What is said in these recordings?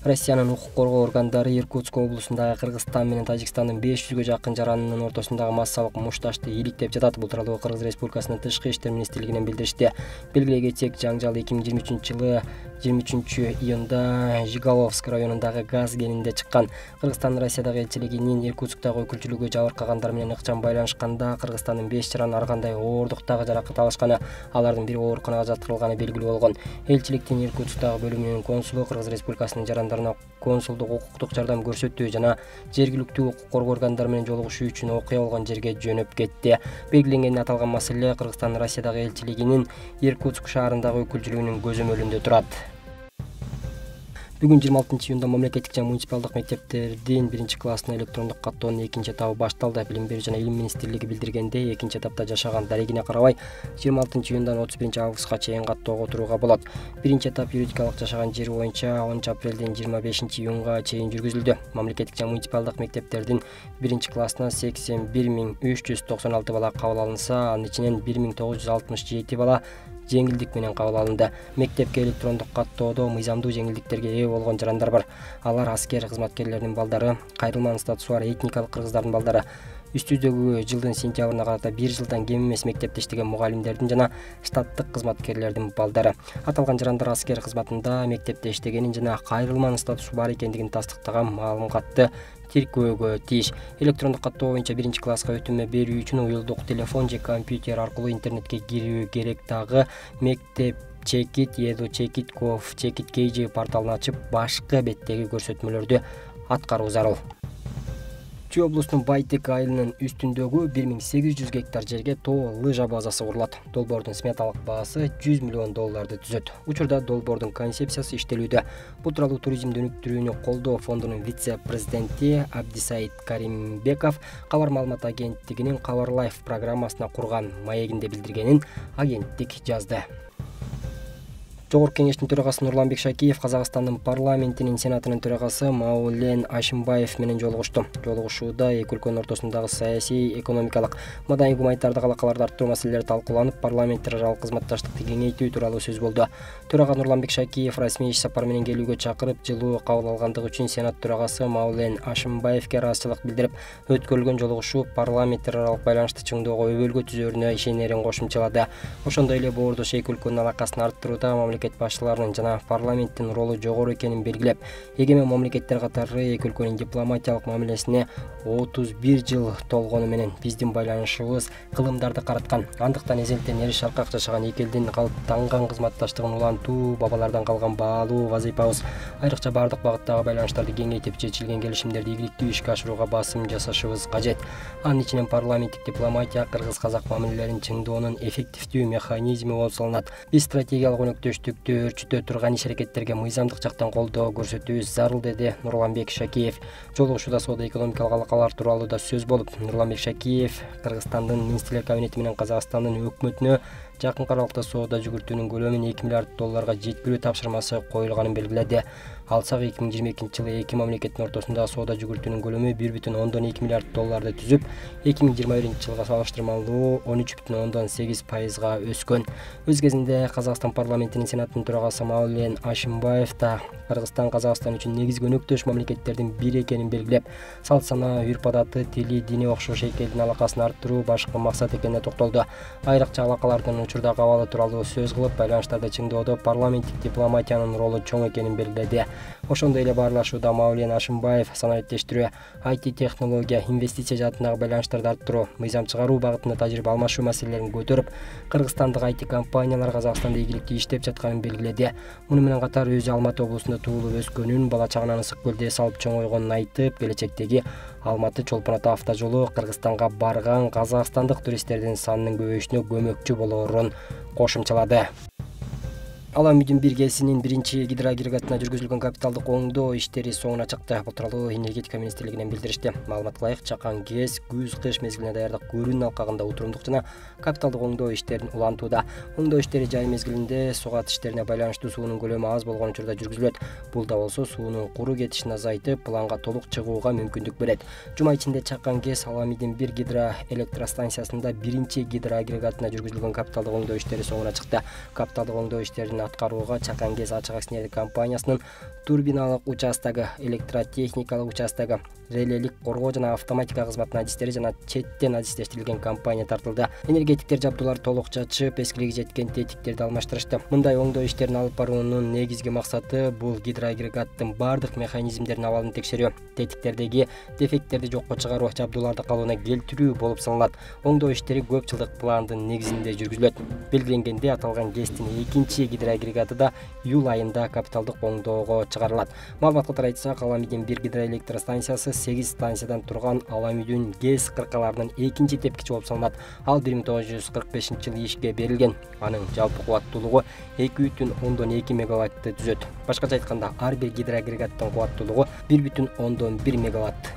Россиянын укук коргоо органдары Иркутск облусундагы Кыргызстан менен Тажикстандын 500гө жакын жаранынын ортосундагы массалык мушташты иликтеп жатат. Бул тууралуу Кыргыз Республикасынын Тышкы иштер министрлигинен билдиришти. Белгилей кетсек, жаңжал 2023-жылы 23-июнда Жигаловск районундагы газ кенинде чыккан. Кыргызстандын Россиядагы элчилигинин Иркутсктагы өкүлчүлүгү жабыркагандар менен ыкчам байланышканда Кыргызстандын 5 жараны ар кандай ооруктагы жаракат алышканы, алардын бири ооруканага жаткырылганы белгилүү болгон. Элчиликтин Иркутсктагы бөлүмүнүн консулу Кыргыз Республикасынын жарандарына консулдук укуктук жардам көрсөтүү жана жергиликтүү укук коргоо органдары менен жолугушуу үчүн окуя болгон жерге жөнөп кетти. Белгиленген аталган маселе Кыргызстандын Россиядагы элчилигинин Иркутск шаарындагы өкүлчүлүгүнүн көзөмөлүндө турат. Бүгүн 26-июнда мамлекеттик жана муниципалдык мектептердин 1-классына электрондук каттоонун 2-этабы башталды. Билим берүү жана илим министрлиги билдиргендей, 2-этапта жашаган дарегине карабай 26-июндан 31-августка чейин каттоого отурууга болот. 1-этап юридикалык жашаган жери боюнча 10-апрелден 25-июнга чейин жүргүзүлдү. Мамлекеттик жана муниципалдык мектептердин 1-классына 81396 бала кабыл алынса, анын ичинен 1967 бала жеңилдик менен кабыл алынды. Мектепке электрондук каттоодо мыйзамдуу жеңилдиктерге ээ болгон жарандар бар. Алар аскер кызматкерлеринин балдары, кайрылман статусу бар этникалык кыргыздардын балдары, үстүздөгү жылдын сентябрына карата 1 жылдан кем эмес мектепте иштеген мугалимдердин жана штаттык кызматкерлердин балдары. Аталган жарандар аскер кызматында мектепте иштегенин жана кайрылман статусу бар экендигин тастыктаган маалыматты тиркөөгө тийиш. Электрондук каттоо боюнча 1-класска өтүмө берүү үчүн уюлдук телефон же компьютер аркылуу интернетке кирүү керек. Дагы мектеп чекит, Edu-Chekit, Gov-Chekit KG порталын ачып, башкы беттеги көрсөтмөлөрдү аткаруу зарыл. Чүй облусунун Байтек айылынын үстүндөгү 1800 гектар жерге тоо лыжа базасы курулат. Долбоордун сметалык баасы $100 миллион түзөт. Учурда долбоордун концепциясы иштелүүдө. Бул тууралуу туризмди өнүктүрүүнү колдоо фондунун вице-президенти Абдисаид Каримбеков кабар маалымат агенттигинин Кабар Лайф программасына курган маегинде билдиргенин агенттик жазды. Жогорку кеңештин төрагасы Нурланбек Шакиев Казакстандын парламентинин сенатынын төрагасы Маулен Ашимбаев менен жолугушту. Жолугушууда эки өлкөнүн ортосундагы саясий, экономикалык, маданий гуманитардык алакаларды арттыруу маселелери талкууланып, парламенттер аралык кызматташтыкты кеңейтүү тууралуу сөз болду. Төрага Нурланбек Шакиев расмий иш сапар менен келүүгө чакырып, жылуу кабыл алгандыгы үчүн сенат төрагасы Маулен Ашимбаевке ыраазычылык билдирип, өткөрүлгөн жолугушуу парламенттер аралык байланышты чыңдоого өбөлгө түзөрүнө ишенерин кошумчалады. Ошондой эле боордош эки өлкөнүн алакасын арттырууда мамлекет башчыларынын жана парламенттин ролу жогору экенин белгилеп, эгемен мамлекеттер катары эки өлкөнүн дипломатиялык мамилесине 31 жыл толгону менен биздин байланышыбыз кылымдарды караткан. Андыктан эзелтен эри шаркак жашаган эки элдин калыптанган кызматташтыгын улантуу бабалардан калган баалуу вазыйпабыз. Айрыкча бардык багыттагы байланыштарды кеңейтип, чечилген келишимдерди ийгиликтүү ишке ашырууга басым жасашыбыз кажет. Анын ичинен парламенттик дипломатия кыргыз-казак мамилелерин чыңдоонун эффективдүү механизми болуп саналат. Биз стратегиялык өнөктөштүктү өрчүтө турган иш-аракеттерге мыйзамдык жактан колдоо көрсөтүүбүз зарыл, деди Нурланбек Шакиев. Жолугушууда соода-экономикалык алакалар тууралуу да сөз болуп, Нурланбек Шакиев Кыргызстандын министрлер кабинети менен Казакстандын өкмөтүнө жакынкы аралыкта соода жүгүртүүнүн көлөмүн $2 миллиард жеткирүү тапшырмасы коюлганын белгиледи. Алсак 2022-жылы эки мамлекеттин ортосундагы соода жүгүртүүнүн көлөмү $1,2 миллиард түзүп, 2021-жылга салыштырмалуу 13,8%га өскөн. Өз кезинде Казакстан парламентинин сенатынын төрагасы Маулен Ашимбаев да Кыргызстан Казакстан үчүн негизги өнөктөш мамлекеттердин бири экенин белгилеп, салт санаа, үрп-адаты, тили, дини окшош эки элдин алакасын арттыруу башкы максат экенине токтолду. Айрыкча алакалардын учурда кабалы тууралуу сөз кылып, байланыштарды чыңдоодо парламенттик дипломатиянын ролу чоң экенин белгиледи. Ошондой эле баарлашууда Маулен Ашимбаев санариптештирүү, IT технология, инвестиция жаатындагы байланыштарды арттыруу, мыйзам чыгаруу багытында тажрыйба алмашуу маселелерин көтөрүп, кыргызстандык IT компаниялар Казакстанда ийгиликтүү иштеп жатканын белгиледи. Муну менен катар өзү Алматы облусунда туулуп өскөнүн, бала чагынан ысык көлдө эс алып чоңойгонун айтып, келечектеги Алматы-Чолпон Ата автожолу Кыргызстанга барган казакстандык туристтердин санынын көбөйүшүнө көмөкчү болоорун кошумчалады. Ала Үмүдүн биргесинин 1-гидроагрегатына жүргүзүлгөн капиталдык оңдоо иштери соңуна чыкты. Бул тууралуу энергетика министрлигинен билдиришти. Маалыматка ылайык, чакан КЭС күз-кыш мезгилине даярдык көрүүнүн алкагында утурумдук жана капиталдык оңдоо иштерин улантууда. Оңдоо иштери жай мезгилинде сугат иштерине байланыштуу суунун көлөмү аз болгон учурда жүргүзүлөт. Бул да болсо суунун куру кетишин азайтып, планга толук чыгууга мүмкүндүк берет. Жума ичинде чакан КЭС Ала Үмүдүн 1 гидроэлектростанциясында 1-гидроагрегатына жүргүзүлгөн капиталдык оңдоо иштери соңуна чыкты. Капиталдык оңдоо иштеринин аткарууга Чакан ГЭС ачык акционерлик компаниясынын турбиналык участогу, электротехникалык участогу, релелик коргоо жана автоматика кызматынын адистери жана четтен адистештирилген компания тартылды. Энергетиктер жабдууларды толук чачып, эскилиги жеткен тетиктерди алмаштырышты. Мындай оңдоо иштерин алып баруунун негизги максаты бул гидроагрегаттын бардык механизмдеринин абалын текшерүү, тетиктердеги дефекттерди жокко чыгаруу, жабдууларды калыбына келтирүү болуп саналат. Оңдоо иштери көп жылдык пландын негизинде жүргүзүлөт. Белгиленгенде аталган ГЭСтин экинчи гидроагрегаты да июль айында капиталдык оңдоого чыгарылат. Маалыматка тарай айтсак, Аламидин 1 гидроэлектростанциясы 8 станциядан турган Аламидин ГЭС кыркаларынын экинчи тепкичи болуп саналат. Ал 1945-жылы ишке берилген. Анын жалпы кубаттуулугу 2,2 мегаваттты түзөт. Башкача айтканда, ар бир гидроагрегаттын кубаттуулугу 1,1 мегаватт.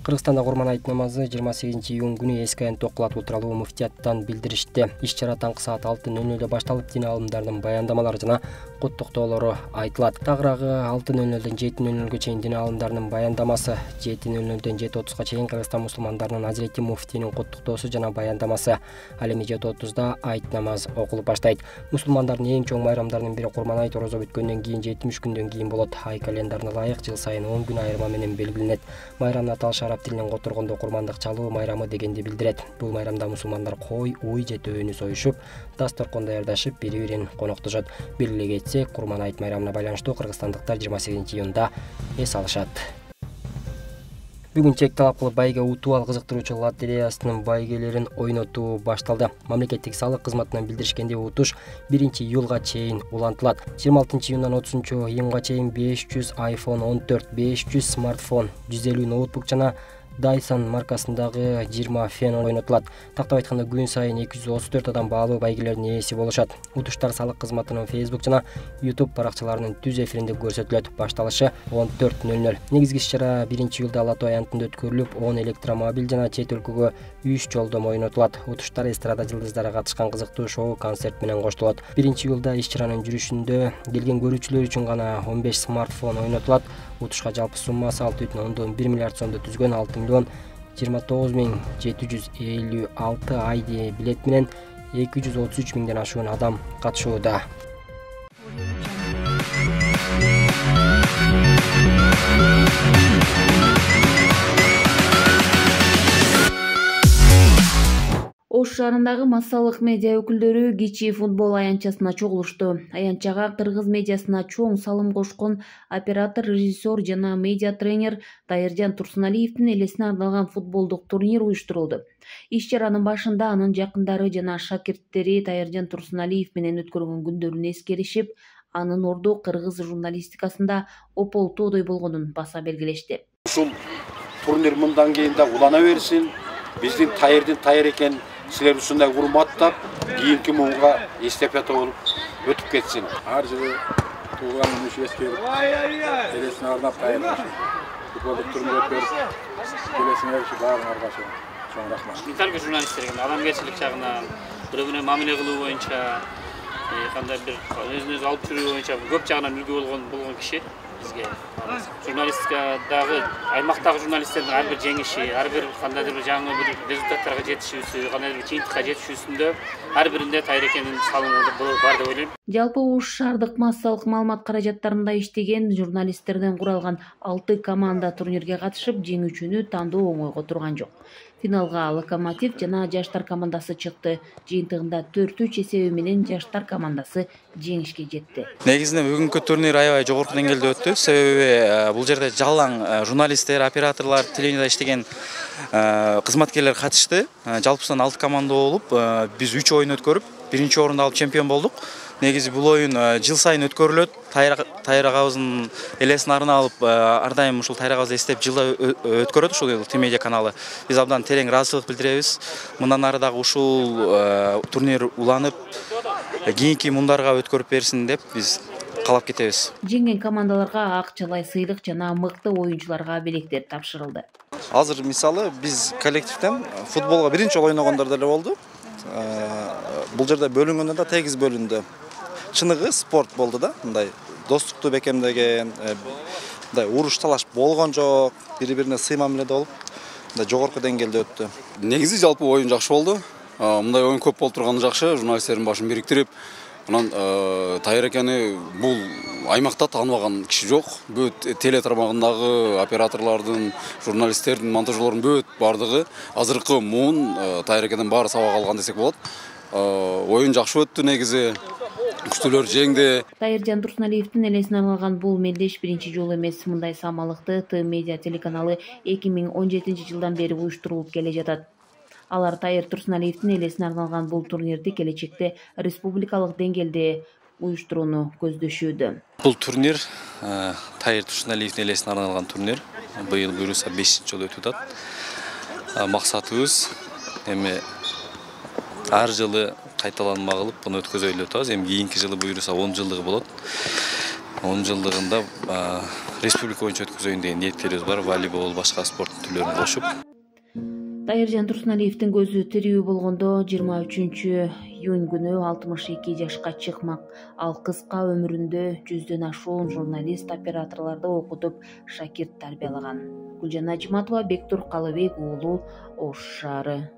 Кыргызстанда Курман айт намазы 28 июнь күнү эски айында окулат тууралуу муфтияттан билдиришти. Иш-чара таңкы саат 6:00 башталып, дин алымдарынын баяндамалары жана куттуктоолору айтылат. Тагыраагы 6:00 7:00 чейин дин алымдарынын баяндамасы, 7:00 7:30 чейин Кыргызстан мусулмандарынын Азирети муфтийнин куттуктоосу жана баяндамасы. Ал эми 7:30 айт намаз окулуп баштайт. Мусулмандардын эң чоң майрамдарынын бири Курман айт орозо бүткөндөн кийин 70 күндөн кийин болот. Ай календарына ылайык жыл сайын 10 күн айырма менен белгиленет. Майрам Наталша араб тилинен которгондо курмандык чалуу майрамы дегенди билдирет. Бул майрамда мусулмандар кой, уй же төөнү союшуп, дасторкон даярдашып, бири-бирин коноктошот. Белгилей кетсек, Курман айт майрамына байланыштуу кыргызстандыктар 28 июнда эс алышат. Бүгүн чек талап кылып байге утуу ал кызыктыруучу лотереясынын байгелерин ойнотуу башталды. Мамлекеттик салык кызматынан билдиришкендей, утуш 1 июлга чейин улантылат. 26 июндан 30 июнга чейин 500 iPhone 14, 500 смартфон, 150 ноутбук жана Dyson маркасындагы 20 фен ойнотулат. Тактап айтканда, күн сайын 234 адам баалуу байгелердин ээси болушат. Утуштар салык кызматынын Facebook жана YouTube баракчаларынын түз эфиринде көрсөтүлөт. Башталышы 14:00. Негизги иш-чара 1 июлда Лото аянтында өткөрүлүп, 10 электромобиль жана чет өлкөгө 3 жолдом ойнотулат. Утуштар эстрада жылдыздары катышкан кызыктуу шоу, концерт менен коштолот. 1 июлда иш-чаранын жүрүшүндө келген көрүүчүлөр үчүн гана 15 смартфон ойнотулат. Утушка жалпы суммасы 6,1 миллиард сомдо түзгөн 6,756,000 ID билет менен 233 миңден ашуун адам катышууда. Ош шаарындагы массалык медиа өкүлдөрү кичи футбол аянтчасына чогулушту. Аянтчага кыргыз медиасына чоң салым кошкон оператор, режиссер жана медиа тренер Тайыржан Турсуналиевдин элесине арналган футболдук турнир уюштурулду. Иш-чаранын башында анын жакындары жана шакирттери Тайыржан Турсуналиев менен өткөргөн күндөрүн эскеришип, анын орду кыргыз журналистикасында ополтоодой болгонун баса белгилешти. Ушул турнир мындан кийин да улана берсин. Биздин Тайырдын Тайыр экен, силер ушундай урматтап, кийинки муунга эстафета болуп өтүп кетсин. Ар жылы туулган күнү эскерип, элесине арнап Тайырга футболдук турнир өткөрүп, келесине эришип баарыңарга чоң рахмат. Интервью журналисттерге адамгерчилик жагынан, бири-бирине мамиле кылуу боюнча, кандай бир өзүн-өзү алып жүрүү боюнча көп жагынан үлгү болгон киши бизге. Журналистикадагы аймактагы журналисттердин ар бир жеңиши, ар бир кандайдыр бир жаңы бир результаттарга жетишүүсү, кандайдыр бир жыйынтыкка жетишүүсүндө ар биринде Тайыр экенин салымы бар деп ойлойм. Жалпы Ош шаардык массалык маалымат каражаттарында иштеген журналисттерден куралган 6 команда турнирге катышып, жеңүүчүнү тандоо оңойго турган жок. Финалга Локомотив жана Жаштар командасы чыкты. Жыйынтыгында 4-3 эсеби менен Жаштар командасы жеңишке жетти. Негизинен бүгүнкү турнир аябай жогорку деңгээлде өттү. Себеби бул жерде жалаң журналисттер, операторлор, телевидениеде иштеген кызматкерлер катышты. Жалпысынан 6 команда болуп, биз 3 оюн өткөрүп, 1-орунду алып чемпион болдук. Негизи бул оюн жыл сайын өткөрүлөт. Тайыр агабыздын элесин алып, ар дайым ушул Тайыр агабызды эстеп жылда өткөрөт ушул Медиа каналы. Биз абдан терең ыраазычылык билдиребиз. Мындан ары дагы ушул турнир уланып, кийинки мундарга өткөрүп берсин деп биз каалап кетебиз. Жеңген командаларга акчалай сыйлык жана мыкты оюнчуларга белектер тапшырылды. Азыр мисалы биз коллективден футболго биринчи жолу ойногондор деле болду. Бул жерде бөлүнгөндө да тегиз бөлүндү. Чыныгы спорт болду да, мындай достукту бекемдеген, мындай уруш талаш болгон жок, бири-бирине сый мамиледе болуп, мындай жогорку деңгээлде өттү. Негизи жалпы оюн жакшы болду. Мындай оюн көп болуп турганы жакшы, журналисттердин башын бириктирип, Анан Тайыр экени бул аймакта тааныбаган киши жок. Бүт теле тармагындагы операторлордун, журналисттердин, монтажерлордун бүт бардыгы азыркы муун Тайыр экенин баары сабак алган десек болот. Оюн жакшы өттү негизи. Күчтүүлөр жеңди. Тайыржан Турсуналиевдин элесине арналган бул мелдеш биринчи жолу эмес. Мындай самалыкты Т Медиа телеканалы 2017 жылдан бери уюштурулуп келе жатат. Алар Тайыр Турсуналиевдин элесине арналган бул турнирди келечекте республикалык деңгээлде уюштурууну көздөшүүдө. Бул турнир Тайыр Турсуналиевдин элесине арналган турнир. Быйыл буюрса 5-чи жолу өтүп атат. Максатыбыз эми ар жылы кайталанма кылып буну өткөзөлү деп атабыз. Эми кийинки жылы буюрса 10 жылдыгы болот. 10 жылдыгында республика боюнча өткөзөйүн деген ниеттерибиз бар. Волейбол, башка спорт түрлөрүн кошуп. Тайыржан Турсуналиевдин көзү тирүү болгондо 23 июнь күнү 62 жашка чыкмак. Ал кыска өмүрүндө 100дөн ашуун журналист, операторлорду окутуп, шакирт тарбиялаган. Гүлжан Ажиматова, Бектур Калыбек уулу, Ош шаары.